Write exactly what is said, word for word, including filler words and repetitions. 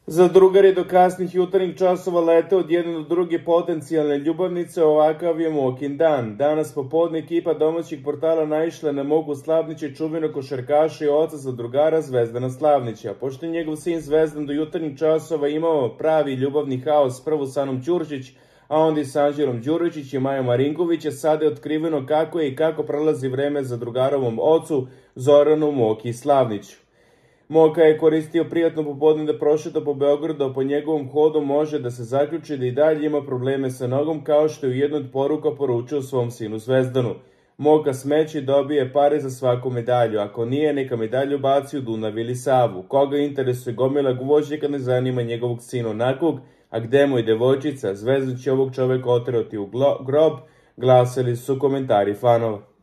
Za drugari do kasnih jutarnjih časova lete od jedne do druge potencijalne ljubavnice, ovakav je Mokin dan. Danas popodne ekipa domaćih portala naišla na Moku Slavnića, čuvenog košarkaša i oca zadrugara Zvezdana Slavnića. Pošto je njegov sin Zvezdan do jutarnjih časova imao pravi ljubavni haos prvo sa Anom Ćurčić, a onda i sa Anđelom Đuričić i Majom Marinkovića, sada je otkriveno kako je i kako prolazi vreme zadrugarovom ocu Zoranu Moki Slavniću. Moka je koristio prijatno popodne da prošeta po Beogradu, a po njegovom hodu može da se zaključi da i dalje ima probleme sa nogom, kao što je u jednoj od poruka poručio svom sinu Zvezdanu. Moka smeće dobije pare za svaku medalju, ako nije, neka medalju baci u Dunav ili Savu. Koga interesuje gomila gvožđe ne zanima njegovog sina onakvog, a gde mu je devojčica, Zvezdan će ovog čoveka oterati u grob, glasili su komentari fanova.